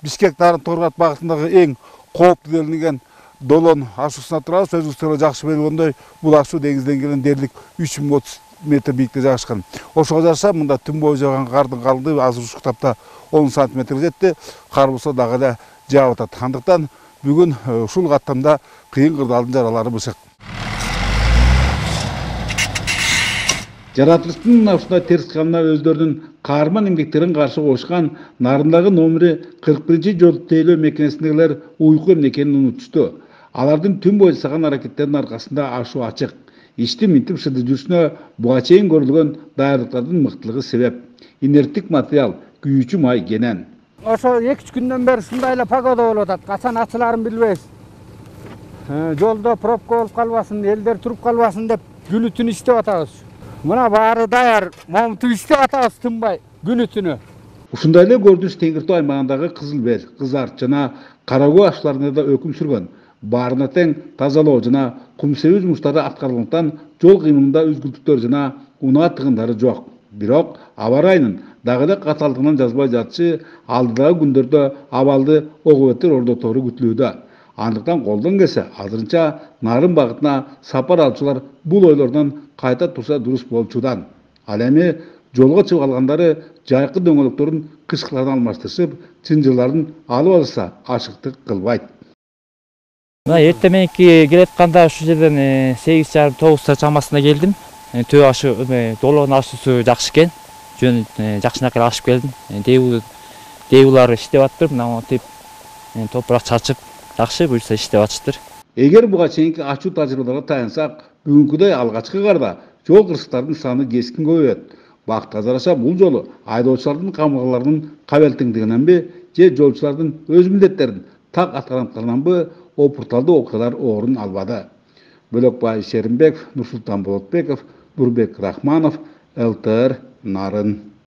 Бишкек Торгат багытындагы эң кооптуу делинген Долон ашуусуна турабыз. Өзүңүздөр жакшы белгилгөндөй, бул ашуу деңиз деңгээлинен дээрлик 3030 метр бийиктикте жайгашкан. Ошого жараша мында түн бою жааган кардын калдыгы азыр уштапта 10 сантиметрге жетти. Кар болсо дагы эле жаап атат. Андыктан бүгүн ушул каттамда кыйын кырдаалдын жаралары бышык. Жаратылыштын ушундай терс кылымына өздөрүнүн каарман эмгектерин каршы коюшкан Нарындагы номери 41-жол тейлөө мекемесиндегилер уйку эмне экенин унутушту. Алардын түн бою жасаган аракеттеринин аркасында ашуу ачык. Иштин минтип шыды жүрүшүнө буга чейин көрүлгөн даярдыктардын мыктылыгы себеп. Инерттик материал, күйүүчү май кенен. Ошо 2-3 күндөн бери ушундай эле погода болуп атат. Качан ачыларын билбейбиз. Жолдо пробка болуп калбасын, элдер туруп калбасын деп күнү түн иштеп атабыз. Мына баары даяр, момунтип иштеп атабыз тынбай күнү түнү. Ушундай эле көрүнүш Теңир Тоо аймагындагы Кызыл Бел, Кызарт жана Кара Көө ашууларында да өкүм сүргөн. Баарына тең тазалоо жана кум себүү жумуштары аткарылгандыктан жол кыймылында үзгүлтүктөр жана унаа тыгындары жок. Бирок аба ырайынын дагы эле катаалдыгынан жазбай жатышы алдыдагы күндөрдө абалды огобетер ордотору күтүлүүдө. Андыктан колдон келсе азырынча Нарын багытына сапар алуучулар бул ойлордон кайта турса дурус болчудан. Ал эми жолго чыгып алгандары жайкы дөңгөлөктөрүн кышкылардан алмаштырышып, чынжырларын алып алышса ашыктык кылбайт. Мына эртең мененки келатканда ушул жерден 8:30-9 чамасында келдим. Төө ашы Долон ашуусу жакшы экен. Жөн жакшынакай ашып келдим. Дейлар иштеп атыптыр. Мына монтип топурак чачып жакшы буюрса иштеп атыштыр. Эгер буга чейинки ачуу тажрыйбаларга таянсак, бүгүнкүдөй алгачкы карда жол кырсыктардын саны кескин көбөйөт. Бактка жараша бул жолу айдоочулардын камылгаларынын кабелтиңдигиненби же жолчулардын өз милдеттерин так аткаргандарынанбы опурталдуу окуялар орун албады. Бөлөкбай Шеримбеков, Нурсултан Болотбеков, Нурбек Рахманов, ЛТР Нарын.